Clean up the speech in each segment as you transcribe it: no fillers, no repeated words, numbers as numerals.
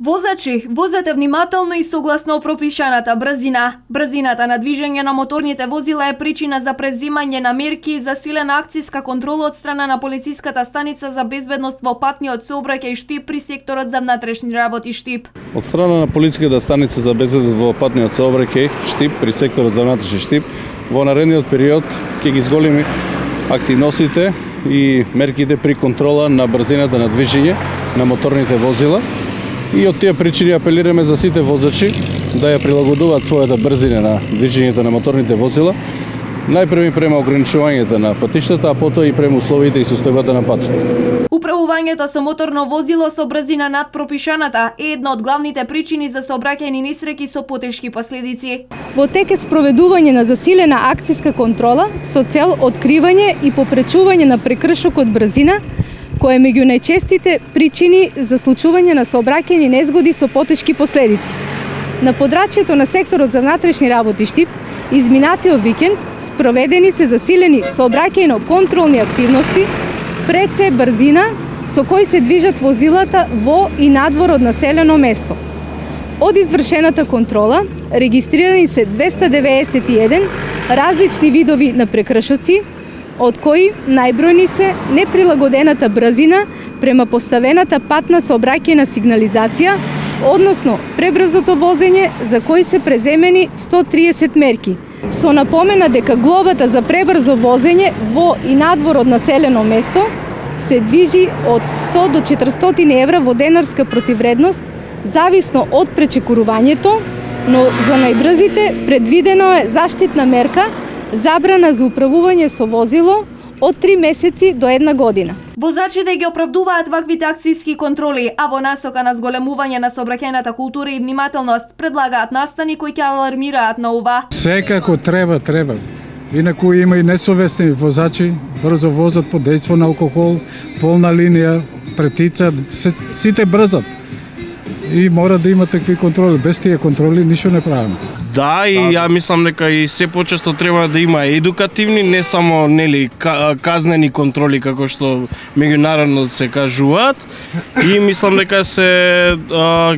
Возачи, возете внимателно и согласно пропишаната брзина. Брзината на движење на моторните возила е причина за преземање на мерки и засилена акцијска контрола од страна на полициската станица за безбедност во патниот сообраќај Штип при секторот за внатрешни работи Штип. Од страна на полициската станица за безбедност во патниот сообраќај Штип при секторот за внатрешни Штип во наредниот период ќе ги зголеми активностите и мерките при контрола на брзината на движење на моторните возила. И од тие причини апелираме за сите возачи да ја прилагодуваат својата брзина на движењето на моторните возила, најпрви према ограничувањето на патиштата, а потоа и према условите и состојбата на патот. Управувањето со моторно возило со брзина над пропишаната е една од главните причини за сообраќајни несреќи со потешки последици. Во тек е спроведување на засилена акцијска контрола со цел откривање и попречување на прекршокот брзина, кој е меѓу најчестите причини за случување на сообраќајни незгоди со потешки последици. На подрачјето на секторот за внатрешни работи Штип, изминатиот викенд спроведени се засилени сообраќајно-контролни активности пред се брзина со кои се движат возилата во и надвор од населено место. Од извршената контрола регистрирани се 291 различни видови на прекршоци, од кои најбројни се неприлагодената брзина према поставената патна сообраќајна сигнализација, односно пребрзото возење за кои се преземени 130 мерки. Со напомена дека глобата за пребрзо возење во и надвор од населено место се движи од 100 до 400 евра во денарска противредност, зависно од пречекорувањето, но за најбрзите предвидено е заштитна мерка забрана за управување со возило од 3 месеци до 1 година. Возачите ги оправдуваат ваквите акцијски контроли, а во насока на зголемување на сообраќајната култура и внимателност предлагаат настани кои ќе алармираат на ова. Секако треба. Инаку има и несовесни возачи, брзо возат под дејство на алкохол, полна линија, претицат, сите брзат. И мора да има такви контроли. Без тие контроли ништо не правиме. Да, и ја мислам дека и се почесто треба да има едукативни, не само казнени контроли како што меѓународно се кажуваат. И мислам дека се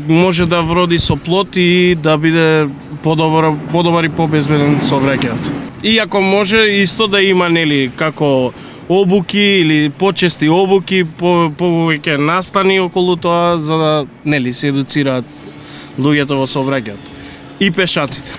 може да вроди со плод и да биде подобар и побезбеден сообраќај. И ако може исто да има како обуки или почести обуки, повеќе настани околу тоа за да се едуцираат луѓето во сообраќајот и пешаците.